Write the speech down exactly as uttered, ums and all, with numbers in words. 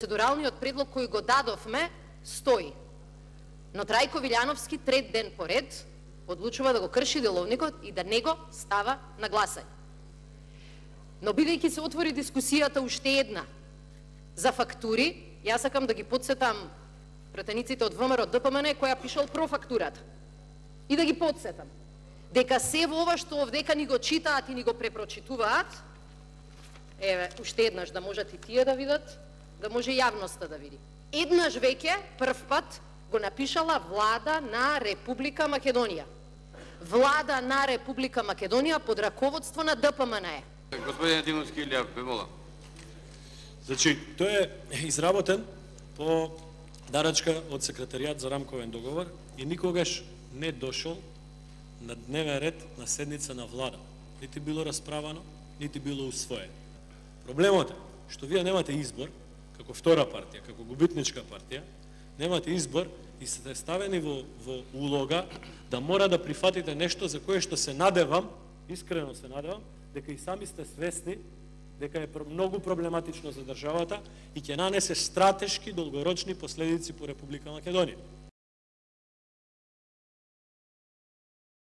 Процедуралниот предлог кој го дадовме стои. Но Трајко Вилјановски трет ден поред одлучува да го крши деловникот и да не го става на гласање. Но бидејќи се отвори дискусијата уште една за фактури, јас сакам да ги подсетам пратениците од ВМРО Д П М Н која пишал про фактурата. И да ги подсетам дека се во ова што овдека ни го читаат и ни го препрочитуваат, еве, уште еднаш да можат и тие да видат, да може јавноста да види. Еднаш веќе, прв пат, го напишала Влада на Република Македонија. Влада на Република Македонија под раководство на Д П М Н Е. Господин Единовски Илија, ве молам. Значи, тој е изработен по нарачка од Секретаријат за рамковен договор и никогаш не дошол на дневен ред на седница на влада. Нити било расправано, нити било усвоено. Проблемот е што вие немате избор, како втора партија, како губитничка партија, немате избор и сте ставени во, во улога да мора да прифатите нешто за кое што се надевам, искрено се надевам, дека и сами сте свесни дека е многу проблематично за државата и ќе нанесе стратешки долгорочни последици по Република Македонија.